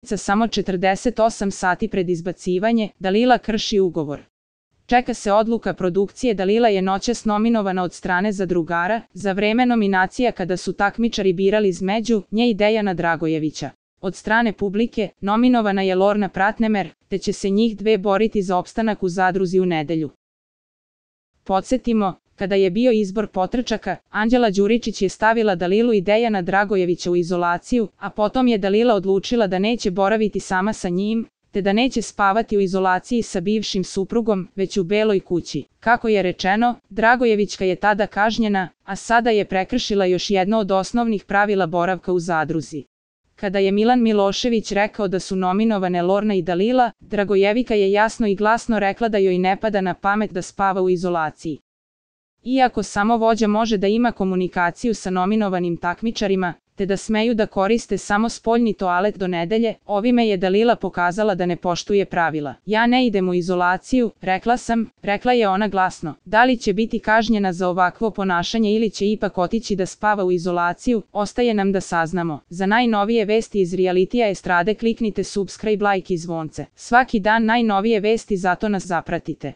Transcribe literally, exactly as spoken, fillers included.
Za samo četrdeset osam sati pred izbacivanje, Dalila krši ugovor. Čeka se odluka produkcije. Dalila je noćas nominovana od strane zadrugara, za vreme nominacija kada su takmičari birali između nje i Dejana Dragojevića. Od strane publike, nominovana je Lorna Pratnemer, te će se njih dve boriti za opstanak u zadruzi u nedelju. Podsjetimo, kada je bio izbor potrčaka, Anđela Đuričić je stavila Dalilu i Dejana Dragojevića u izolaciju, a potom je Dalila odlučila da neće boraviti sama sa njim, te da neće spavati u izolaciji sa bivšim suprugom, već u Beloj kući. Kako je rečeno, Dragojevićka je tada kažnjena, a sada je prekršila još jedno od osnovnih pravila boravka u zadruzi. Kada je Milan Milošević rekao da su nominovane Lorna i Dalila, Dragojevika je jasno i glasno rekla da joj ne pada na pamet da spava u izolaciji. Iako samo vođa može da ima komunikaciju sa nominovanim takmičarima, te da smeju da koriste samo spoljni toalet do nedelje, ovime je Dalila pokazala da ne poštuje pravila. Ja ne idem u izolaciju, rekla sam, rekla je ona glasno. Da li će biti kažnjena za ovakvo ponašanje ili će ipak otići da spava u izolaciju, ostaje nam da saznamo. Za najnovije vesti iz realitija estrade kliknite subscribe, like i zvonce. Svaki dan najnovije vesti, zato nas zapratite.